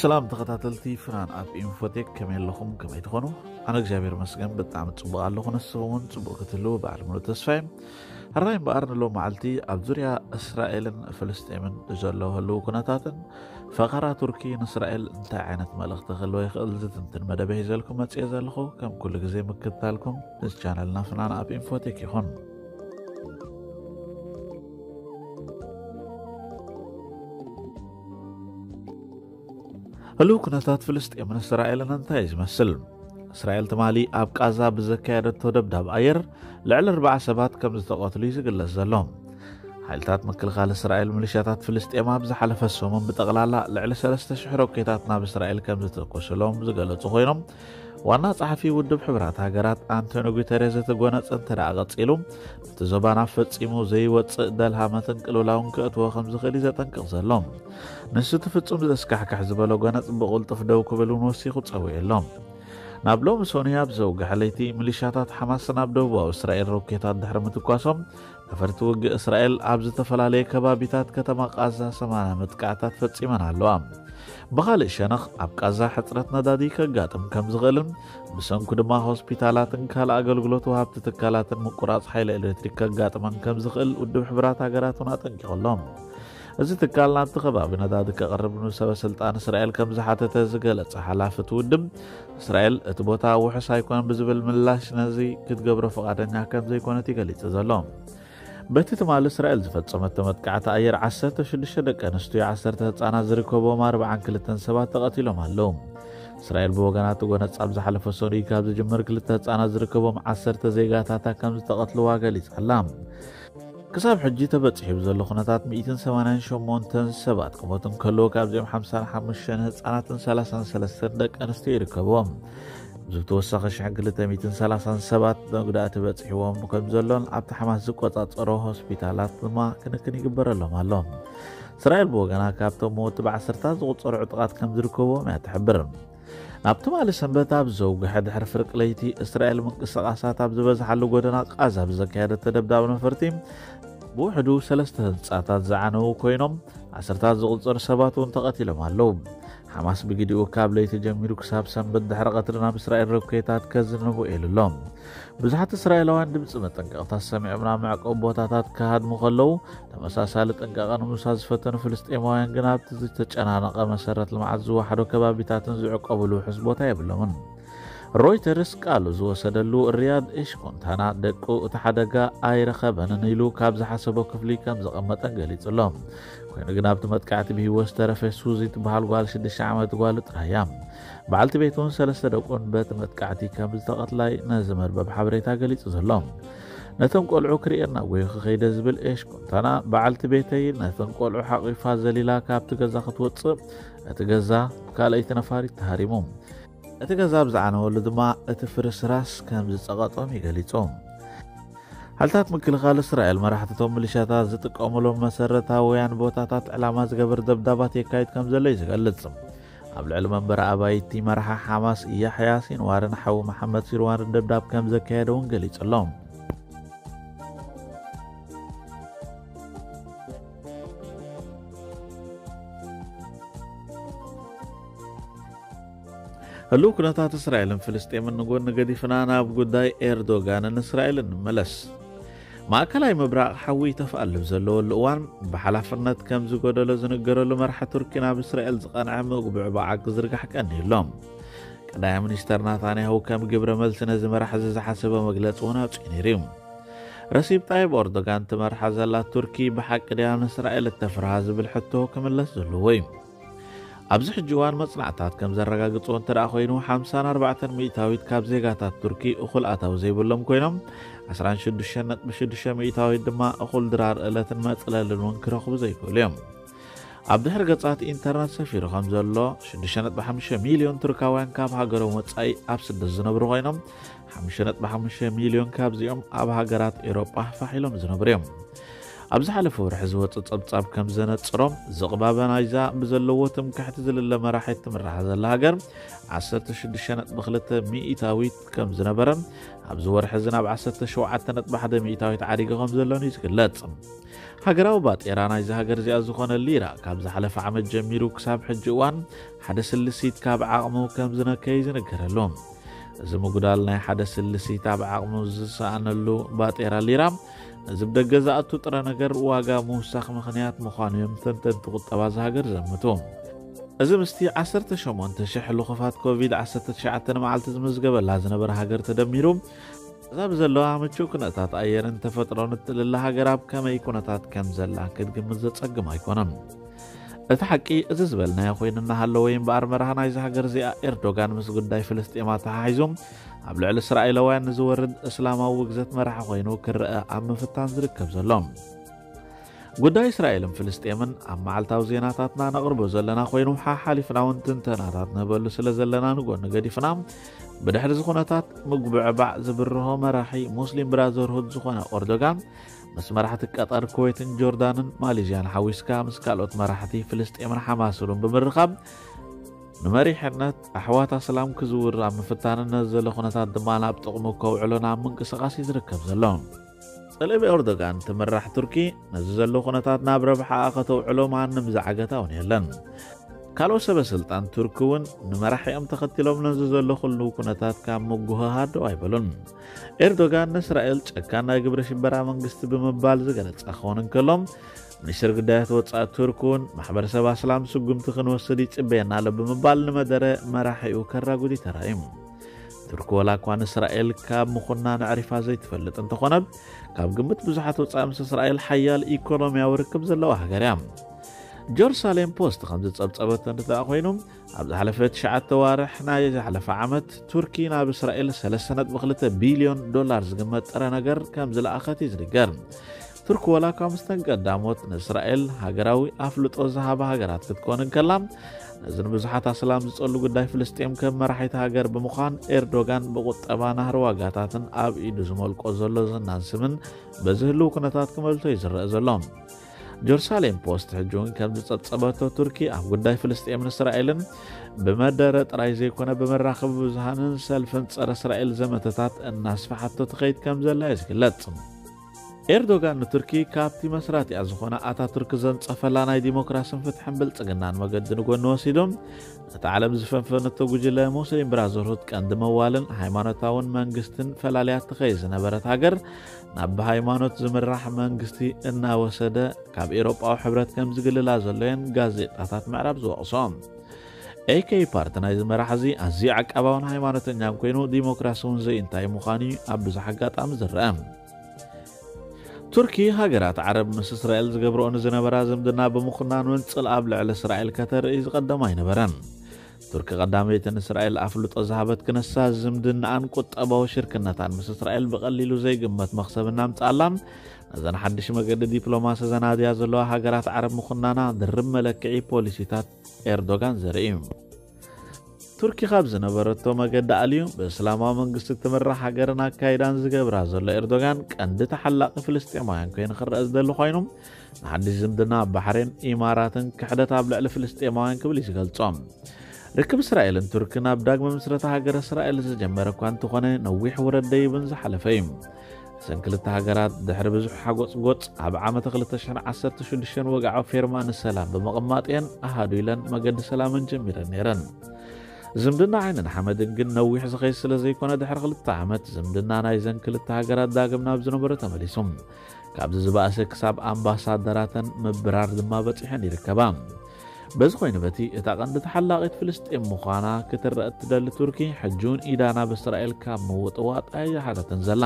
ሰላም ተኸታተልቲ ፍናን ኣብ ኢንፎቴክ፣ ከመይ ኣለኹም? ከመይ ትኾኑ? ኣነ እግዚኣብሔር መስገን ብጣዕሚ ጽቡቕ ኣለኹ። ንስኹም እውን ጽቡቕ ክትህልዉ በዓል ሙሉ ተስፋ እየ። ሕራይ እምበኣር ንሎም መዓልቲ ኣብ ዙርያ እስራኤልን ፍልስጤምን ዘሎ ህልው ኩነታትን ፈኸራ ቱርኪ ንእስራኤል እንታይ ዓይነት መልእኽቲ ክህልዎ ይኽእል ዝትንትን መደብ ሒዘልኩም መጽየ ዘለኹ። ከም ኩሉ ግዜ ምክትታልኩም ምስ ቻነልና ፍናን ኣብ ኢንፎቴክ ይኹን። ህልው ኩነታት ፍልስጤምን እስራኤልን እንታይ እዩ ዝመስል? እስራኤል ትማሊ ኣብ ቃዛ ብዘካየደቶ ደብዳብ ኣየር ልዕሊ ኣርባዓ ሰባት ከም ዝተቐትሉ እዩ ዝግለጽ ዘሎ። ሓይልታት ምክልኻል እስራኤል ሚሊሻታት ፍልስጤም ኣብ ዝሓለፈ ሰሙን ብጠቕላላ ልዕሊ ሰለስተ ሽሕ ሮኬታት ናብ እስራኤል ከም ዝተኮሰሎም ዝገለጹ ኮይኖም፣ ዋና ጸሓፊ ውድብ ሕቡራት ሃገራት ኣንቶኒ ጉተሬዝ እቲ ጎነጽ እንተ ደኣ ቀጺሉ፣ እቲ ዞባ ናብ ፈጺሙ ዘይወጽእ ደልሃመትን ቅልውላውን ከእትዎ ከም ዝኽእል እዩ ዘጠንቅቕ ዘሎ። ንሱ እቲ ፍጹም ዘስካሕክሕ ዝበሎ ጎነጽ ብቕልጡፍ ደው ክብል እውን ወሲኹ ጸዊዑ ኣሎ። ናብ ሎሚ ሰኑይ ኣብ ዘውግሐ ለይቲ፣ ሚሊሻታት ሓማስ ናብ ደቡባዊ እስራኤል ሮኬታት ድሕሪ ምትኳሶም፣ ነፈርቲ ውግእ እስራኤል ኣብ ዝተፈላለየ ከባቢታት ከተማ ቃዛ ሰማንያ መጥቃዕታት ፈጺመን ኣለዋ። ብኻልእ ሸነኽ፣ ኣብ ቃዛ ሕጽረት ነዳዲ ከጋጥም ከም ዝኽእልን ብሰንኩ ድማ ሆስፒታላትን ካልእ ኣገልግሎት ወሃብቲ ትካላትን ምቁራጽ ሓይሊ ኤሌክትሪክ ከጋጥመን ከም ዝኽእል ውድብ ሕቡራት ሃገራት እውን ኣጠንቂቑ ኣሎ። እዚ ትካል ናብቲ ከባቢ ነዳዲ ከቕርብ ንሰበ ስልጣን እስራኤል ከም ዝሓተተ ዝገለጸ ሓላፊ እቲ ውድብ፣ እስራኤል እቲ ቦታ ውሑስ ኣይኮነን ብዝብል ምላሽ ነዚ ክትገብሮ ፍቓደኛ ከም ዘይኮነት እዩ ገሊጹ ዘሎ። በቲ ትማሊ እስራኤል ዝፈጸመቶ መጥቃዕቲ ኣየር ዓሰርተ ሽዱሽተ ደቂ ኣንስትዮ፣ ዓሰርተ ህጻናት ዝርከብዎም ኣርባዓን ክልተን ሰባት ተቐቲሎም ኣለዉ። እስራኤል ብወገና እቲ ጎነጽ ኣብ ዝሓለፈ ሰኑይ ካብ ዝጅምር ክልተ ህጻናት ዝርከብዎም ዓሰርተ ዜጋታታ ከም ዝተቐትልዋ ገሊጻ ኣላ። ክሳብ ሕጂ ተበጺሑ ብዘሎ ኩነታት ሚእትን ሰማንያን ሸሞንተን ሰባት ክሞቱ እንከለዉ፣ ካብዚኦም ሓምሳን ሓሙሽተን ህጻናትን ሰላሳን ሰለስተን ደቂ ኣንስትዮ ይርከብዎም። ብዝተወሰኸ ሽሕን ክልተ ሚእትን ሰላሳን ሰባት መጉዳእቲ በጺሕዎም ከም ዘሎን ኣብቲ ሓማስ ዝቆጻጸሮ ሆስፒታላት ድማ ክንክን ይግበረሎም ኣሎ። እስራኤል ብወገና ካብቶም መወቲ ብዓሰርታት ዝቑጸሩ ዕጡቓት ከም ዝርከብዎም እያ ትሕብር። ናብ ትማሊ ሰንበት ኣብ ዘውግሐ ድሕሪ ፍርቂ ለይቲ፣ እስራኤል ምንቅስቓሳት ኣብ ዝበዝሓሉ ጎደና ቃዛ ብዘካየደቶ ደብዳብ ነፈርቲ፣ ብውሕዱ ሰለስተ ህንጻታት ዝዓነዉ ኮይኖም፣ ዓሰርታት ዝቑጸሩ ሰባት እውን ተቐቲሎም ኣለዉ። ሓማስ ብግዲኡ ካብ ለይቲ ጀሚሩ ክሳብ ሰንበት ድሕሪ ቀትሪ ናብ እስራኤል ሮኬታት ከዝንቡ ኢሉ ኣሎ። ብዙሓት እስራኤላውያን ድምጺ መጠንቀቕታ ሰሚዖም ናብ መዕቆቢ ቦታታት ክሃድሙ ከለዉ፣ ተመሳሳሊ ጥንቃቐ ንምውሳድ ዝፈተኑ ፍልስጤማውያን ግን ኣብቲ ዝተጨናነቐ መሰረት ልምዓት ዝወሓዶ ከባቢታትን ዝዕቆብሉ ውሑስ ቦታ የብሎምን። ሮይተርስ ቃሉ ዝወሰደሉ ሪያድ ኤሽኮንታና ደቁ እቲ ሓደጋ ኣይረኸበንን ኢሉ ካብ ዝሓሰቦ ክፍሊ ከም ዘቐመጠን ገሊጹ ኣሎ። ኮይኑ ግን ኣብቲ መጥቃዕቲ ብህይወት ዝተረፈ ሱዚ ትበሃል ጓል ሽዱሽተ ዓመት ጓሉ ጥራይ እያ። በዓልቲ ቤቱን ሰለስተ ደቁን በቲ መጥቃዕቲ ከም ዝተቐትላ እዩ ነዚ መርበብ ሓበሬታ ገሊጹ ዘሎ። ነቶም ቆልዑ ክርእየና ጎይኹ ከይደ ዝብል ኤሽኮንታና፣ በዓልቲ ቤተይ ነተን ቆልዑ ሓቒፋ ዘሊላ ካብቲ ገዛ ክትወጽእ፣ እቲ ገዛ ካልኣይቲ ነፋሪት ተሃሪሙ። እቲ ገዛ ኣብ ዝዓነወሉ ድማ እቲ ፍርስራስ ከም ዝጸቐጦም እዩ ገሊጹ። ሓይልታት ምክልኻል እስራኤል መራሕቲ እቶም ሚሊሻታት ዝጥቀሙሎም መሰረታውያን ቦታታት ዕላማ ዝገበር ደብዳባት የካይድ ከም ዘሎ እዩ ዝገልጽ። ኣብ ልዕሊ መንበሪ ኣባይቲ መራሒ ሓማስ ያሕያ ሲንዋርን ሓዉ መሓመድ ሲንዋርን ደብዳብ ከም ዘካየደ እውን ገሊጹ ኣሎ። ህሉው ኩነታት እስራኤልን ፍልስጤምን ንጎኒ ገዲፍና ናብ ጉዳይ ኤርዶጋንን እስራኤልን ንመለስ። ማእከላይ ምብራቕ ሓዊ ይተፍኣሉ ዘለወሉ እዋን፣ ብሓላፍነት ከም ዝጎደሎ ዝንገረሉ መራሒ ቱርኪ ናብ እስራኤል ዝቐንዐ ምጉብዕባዓ ክዝርጋሕ ቀንዩ ኣሎ። ቀዳማይ ሚኒስተር ናታንያሁ ከም ግብረ መልሲ ነዚ መራሒ እዚ ዝሓሰበ መግለጺ እውን ኣውጺኡ ነይሩ እዩ። ረሲብ ጣይብ ኤርዶጋን ትመርሓ ዘላ ቱርኪ ብሓቂ ድያ ንእስራኤል እተፍርሃ ዝብል ሕቶ ክምለስ ዘለዎ እዩ። ኣብዚ ሕጂ እዋን መጽናዕታት ከም ዘረጋግጾ እንተ ደኣ ኮይኑ፣ ሓምሳን ኣርባዕተን ሚእታዊት ካብ ዜጋታት ቱርኪ እኹል ኣታዊ ዘይብሎም ኮይኖም፣ ዓሰርተ ሽዱሽተ ነጥቢ ሽዱሽተ ሚእታዊት ድማ እኹል ድራር እለትን መጽለልን እውን ክረኽቡ ዘይክእሉ እዮም። ኣብ ድሕሪ ገጻት ኢንተርነት ሰፊሩ ከም ዘሎ፣ ሽዱሽተ ነጥቢ ሓሙሽተ ሚልዮን ቱርካውያን ካብ ሃገሮም ወጻኢ ኣብ ስደት ዝነብሩ ኮይኖም፣ ሓሙሽተ ነጥቢ ሓሙሽተ ሚልዮን ካብዚኦም ኣብ ሃገራት ኤውሮጳ ፋሕ ኢሎም ዝነብሩ እዮም። ኣብ ዝሓለፈ ወርሒ ዝወጸ ጸብጻብ ከም ዘነጽሮ፣ ዝቕባበ ናይዛ ብዘለዎ ትምክሕቲ ዝልለ መራሒት ትምራሕ ዘላ ሃገር ዓሰርተ ሽዱሽተ ነጥቢ ክልተ ሚእታዊት ከም ዝነበረን፣ ኣብዚ ወርሒ እዚ ናብ ዓሰርተ ሸውዓተ ነጥቢ ሓደ ሚእታዊት ዓዲጉ ከም ዘሎን እዩ ዝግለጽ። ሃገራዊ ባጤራ ናይዚ ሃገር እዚኣ ዝኾነ ሊራ ካብ ዝሓለፈ ዓመት ጀሚሩ ክሳብ ሕጂ እዋን ሓደ ስልሲት ካብ ዓቕሙ ከም ዝነከይ ዝንገረሉ። እዚ ምጉዳል ናይ ሓደ ስልሲት ኣብ ዓቕሙ ዝሰኣነሉ ባጤራ ሊራ፣ ነዚ ብደገ ዝኣቱ ጥረ ነገር ዋጋ ምውሳኽ ምኽንያት ምዃኑ እዮም ተንተንቲ ቁጠባ እዚ ሃገር ዘምቱ። እዚ ምስቲ ዓሰርተ ሸሞንተ ሽሕ ልኹፋት ኮቪድ ዓሰርተ ትሽዓተ ንመዓልቲ ዝምዝገበላ ዝነበረ ሃገር ተደሚሩ፣ እዛ ብዘለዋ ምቹእ ኩነታት ኣየርን ተፈጥሮን እትልለ ሃገር ኣብ ከመይ ኩነታት ከም ዘላ ክትግምት ዘጸግም ኣይኮነን። እቲ ሓቂ እዚ ዝበልናዮ ኮይኑ እናሃለወ እምበኣር፣ መራሒ ናይዚ ሃገር እዚኣ ኤርዶጋን ምስ ጉዳይ ፍልስጤም ኣተሓሒዙ ኣብ ልዕሊ እስራኤላውያን ንዝወርድ እስላማዊ ውግዘት መራሒ ኮይኑ ክረአ ኣብ ምፍታን ዝርከብ ዘሎ። ጉዳይ እስራኤልን ፍልስጤምን ኣብ መዓልታዊ ዜናታትና ነቕርቦ ዘለና ኮይኑ፣ ሓሓሊፍና እውን ትንተናታት ንህበሉ ስለ ዘለና፣ ንጎኒ ገዲፍና፣ ብድሕሪ እዚ ኩነታት ምጉብዕባዕ ዝብርሆ መራሒ ሙስሊም ብራዘርሁድ ዝኾነ ኦርዶጋን ምስ መራሕቲ ቀጠር፣ ኩዌትን ጆርዳንን ማሌዥያን ሓዊስካ ምስ ካልኦት መራሕቲ ፍልስጤምን ሓማስ እውን ብምርኻብ ንመሪሕነት ኣሕዋት ኣስላም ክዝውር ኣብ ምፍታንን ነዚ ዘሎ ኩነታት ድማ ናብ ጥቕሙ ከውዕሎን ኣብ ምንቅስቓስ እዩ ዝርከብ ዘሎ። ጸለብ ኤርዶጋን ትምራሕ ቱርኪ ነዚ ዘሎ ኩነታት ናብ ረብሓኣ ከተውዕሎ ማንም ዝዓገታ እውን የለን። ካልኦት ሰበ ስልጣን ቱርኪ እውን ንመራሒኦም ተኸቲሎም ነዚ ዘሎ ኩሉ ኩነታት ካብ ምጉህሃር ደው ኣይበሉን። ኤርዶጋን ንእስራኤል ጨካን ናይ ግብረ ሽበራ መንግስቲ ብምባል ዝገለጸ ክኸውን እንከሎ፣ ሚኒስትር ጉዳያት ወጻኢ ቱርክ እውን ማሕበረሰብ ኣስላም ስጉምቲ ክንወስድ ይጽበየና ኣሎ ብምባል ንመደረ መራሒኡ ከራጉድ ተራእዩ። ቱርክ ወላ እኳ ንእስራኤል ካብ ምኹናን ኣዕሪፋ ዘይትፈልጥ እንተኾነ፣ ካብ ግምት ብዙሓት ወጻኢ ምስ እስራኤል ሓያል ኢኮኖሚያዊ ርክብ ዘለዋ ሃገር እያ። ጀሩሳሌም ፖስት ከም ዝጸብጸበቶ እንተደኣ ኮይኑ፣ ኣብ ዝሓለፈ ትሽዓተ ዋርሕ ናይ ዝሓለፈ ዓመት ቱርኪ ናብ እስራኤል ሰለስተ ነጥቢ ክልተ ቢልዮን ዶላር ዝግመት ጥረ ነገር ከም ዝለኣኸት እዩ ዝንገር። ቱርክ ወላ እኳ ምስተን ቀዳሞት ንእስራኤል ሃገራዊ ኣፍልጦ ዝሃባ ሃገራት ክትኮን እንከላ፣ ነዚ ንብዙሓት ኣስላም ዝጸሉ ጉዳይ ፍልስጤም ከም መራሒት ሃገር ብምዃን ኤርዶጋን ብቁጠባ ናህሪ ዋጋታትን ኣብ ኢዱ ዝመልቆ ዘሎ ዝናን ስምን በዚ ህልው ኩነታት ክመልቶ እዩ ዝረአ ዘሎ። ጀሩሳሌም ፖስት ሕጂ እውን ከም ዝጸብጸበቶ፣ ቱርኪ ኣብ ጉዳይ ፍልስጤምን እስራኤልን ብመደረ ጥራይ ዘይኮነ ብመራኸቢ ብዙሃንን ሰልፍን ጸረ እስራኤል ዘመተታት እናስፍሓቶ ትኸይድ ከም ዘላ እዩ ዝግለጽ። ኤርዶጋን ንቱርኪ ካብቲ መስራቲኣ ዝኾነ ኣታቱርክ ዘንጸፈላ ናይ ዲሞክራስን ፍትሕን ብልጽግናን መገዲ ንጎኒ ወሲዱ፣ ነቲ ዓለም ዝፈንፈነቶ ጉጅለ ሙስሊም ብራዘርሁድ ቀንዲ መዋልን ሃይማኖታውን መንግስትን ፈላልያ ትኸይድ ዝነበረት ሃገር ናብ ብሃይማኖት ዝምራሕ መንግስቲ እናወሰደ ካብ ኤውሮጳዊ ሕብረት ከም ዝግልላ ዘሎ እየን ጋዜጣታት ምዕራብ ዝወቕሶ። ኤኬ ፓርቲ ናይዚ መራሕ እዚ ኣዝዩ ዓቃባውን ሃይማኖተኛን ኮይኑ፣ ዲሞክራሲ እውን ዘይእንታይ ምዃኑ እዩ ኣብ ብዙሕ ኣጋጣሚ ዝረአ። ቱርኪ ሃገራት ዓረብ ምስ እስራኤል ዝገብርኦ ንዝነበራ ዝምድና ብምኹናን እውን ጽልኣ ኣብ ልዕሊ እስራኤል ከተርኢ ዝቐደማ ኣይነበረን። ቱርኪ ቀዳመይቲ ንእስራኤል ኣፍልጦ ዝሃበት ክነሳ ዝምድናኣን ቁጠባዊ ሽርክነታን ምስ እስራኤል ብቐሊሉ ዘይግመት መኽሰብ እናምጽኣላ፣ ነዘን ሓድሽ መገዲ ዲፕሎማሲ ዘናድያ ዘለዋ ሃገራት ዓረብ ምኹናና ድርብ መለክዒ ፖሊሲታት ኤርዶጋን ዘርኢ እዩ። ቱርኪ ካብ ዝነበረቶ መገዲ ኣልዩ ብእስላማዊ መንግስቲ ትምራሕ ሃገርን ኣካይዳን ዝገብራ ዘሎ ኤርዶጋን ቀንዲ ተሓላቒ ፍልስጤማውያን ኮይኑ ክረአ ዝደሊ ኮይኑ፣ ንሓድሽ ዝምድና ኣብ ባሕሬን፣ ኢማራትን ክሕደት ኣብ ልዕሊ ፍልስጤማውያን ክብል እዩ ዝገልጾ። ርክብ እስራኤልን ቱርክን ኣብ ዳግመ ምስረታ ሃገረ እስራኤል ዝጀመረ እኳ እንተኾነ፣ ነዊሕ ውረድ ደይብን ዝሓለፈ እዩ። እዘን ክልተ ሃገራት ድሕሪ ብዙሕ ሓጎጽጎጽ ኣብ ዓመተ ክልተ ሽሕን ዓሰርተ ሽዱሽተን ወግዓዊ ፌርማ ንሰላም ብምቕማጥ እየን ኣሃዱ ኢለን መገዲ ሰላመን ጀሚረን ነይረን። ዝምድና ዓይንን ሓመድን ግን ነዊሕ ዝኸይድ ስለ ዘይኮነ፣ ድሕሪ ክልተ ዓመት ዝምድና ናይዘን ክልተ ሃገራት ዳግም ናብ ዝነበሮ ተመሊሱ። ካብዚ ዝበኣሰ ክሳብ ኣምባሳደራተን ምብራር ድማ በጺሐን ይርከባ። በዚ ኮይኑ በቲ እታ ቀንዲ ተሓላቒት ፍልስጤም ምዃና ክትረአ እትደሊ ቱርኪ፣ ሕጂ እውን ኢዳ ናብ እስራኤል ካብ ምውጥዋጥ ኣይሓደትን ዘላ።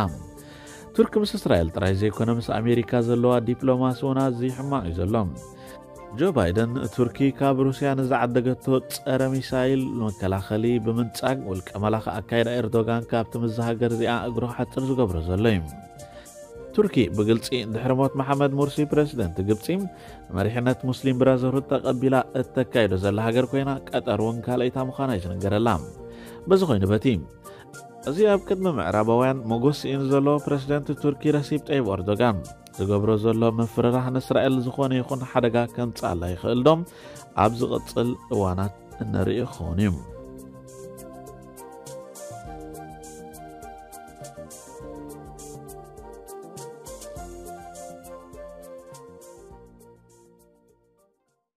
ቱርኪ ምስ እስራኤል ጥራይ ዘይኮነ ምስ ኣሜሪካ ዘለዋ ዲፕሎማሲ እውን ኣዝዩ ሕማቕ እዩ ዘሎ። ጆ ባይደን ቱርኪ ካብ ሩስያ ንዝዓደገቶ ጸረ ሚሳይል መከላኸሊ ብምንጻግ፣ ውልቀ መላኺ ኣካይዳ ኤርዶጋን ካብቲ ምስዛ ሃገር እዚኣ እግሩ ክሓጽር ዝገብሮ ዘሎ እዩ። ቱርኪ ብግልጺ ድሕሪ ሞት መሓመድ ሙርሲ ፕረዚደንት ግብጺ ንመሪሕነት ሙስሊም ብራዘርሁድ ተቐቢላ እተካይዶ ዘላ ሃገር ኮይና፣ ቀጠር እውን ካልኣይታ ምዃና እዩ ዝንገረላ። በዚ ኮይኑ በቲ እዚ ኣብ ቅድሚ ምዕራባውያን ሞጎስ ስኢኑ ዘሎ ፕረዚደንት ቱርኪ ረሲብ ጠይብ ኤርዶጋን ዝገብሮ ዘሎ ምፍርራሕ ንእስራኤል ዝኾነ ይኹን ሓደጋ ከምጽኣላ ይኽእል ዶ? ኣብ ዝቕጽል እዋናት እንርእዮ ክኸውን እዩ።